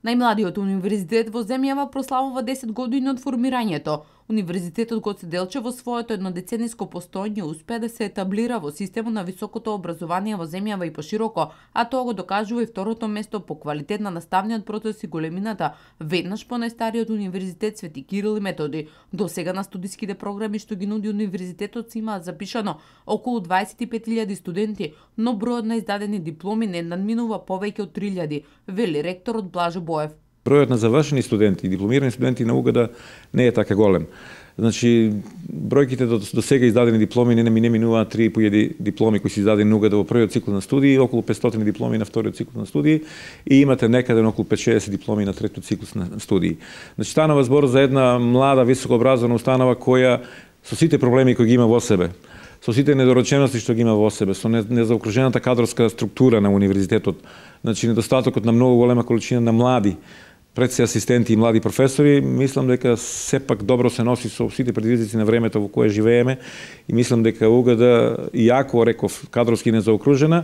Најмладиот универзитет во земјава прославува 10 години од формирањето. Универзитетот Гоце Делчев во своето еднодецениско постоење успеа да се етаблира во системот на високото образование во земјава и пошироко, а тоа го докажува и второто место по квалитет на наставниот процес и големината, веднаш по најстариот универзитет Свети Кирил и Методи. До сега на студиските програми што ги нуди универзитетот си имаат запишано околу 25.000 студенти, но бројот на издадени дипломи не надминува повеќе од 3.000, вели ректорот Блажо Боев. Бројот на завршени студенти и дипломирани студенти на УГД не е така голем. Значи, бројките до сега издадени дипломи не минуваат 3.500 дипломи кои се издадени на УГД во првиот цикл на студии, околу 500 дипломи на вториот цикл на студии и имате некаде околу 560 дипломи на третиот цикл на студии. Значи, станува збор за една млада високообразована установа која со сите проблеми кои ги има во себе, со сите недоречености што ги има во себе, со незаокружената кадровска структура на универзитетот, значи недостатокот на многу голема количина на млади предси асистенти и млади професори, мислам дека сепак добро се носи со сите предизвици на времето во кое живееме и мислам дека УГД, иако реков кадровски незаокружена,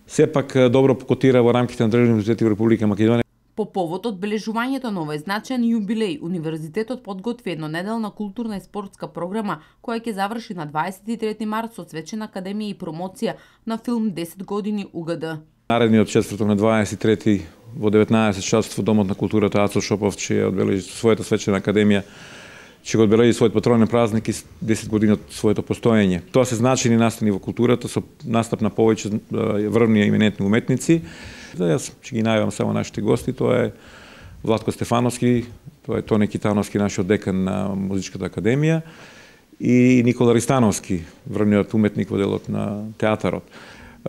сепак добро покотира во рамките на државни универзитети во Република Македонија. По повод одбележувањето на овој значаен јубилеј, универзитетот подготви еднонеделна културна и спортска програма која ќе заврши на 23 март со свечена академија и промоција на филм 10 години УГД. Наредниот четврток на 23 во 19 часот во Домот на културата Ацо Шопов ќе одбележи својата свечена академија, ќе го одбележи својот патронен празник и 10 години од своето постоење. Тоа се значени настани во културата со настап на повеќе врвни и именитни уметници. Јас ќе ги најавам само нашите гости, тоа е Владко Стефановски, тоа е Тони Китановски, нашиот декан на Музичката академија, и Никола Ристановски, врвниот уметник во делот на театарот.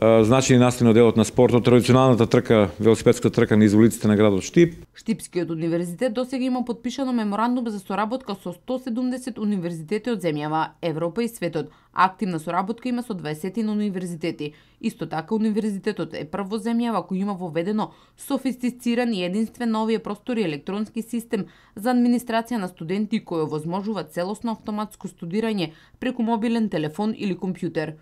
Значени настани од делот на спортот, традиционалната трка, велосипедската трка на изволиците на градот Штип. Штипскиот универзитет досега има подпишано меморандум за соработка со 170 универзитети од земјава, Европа и светот. Активна соработка има со 20 универзитети. Исто така универзитетот е прв во земјава кој има воведено софистициран и единствен на овие простори електронски систем за администрација на студенти кој овозможува целосно автоматско студирање преку мобилен телефон или компјутер.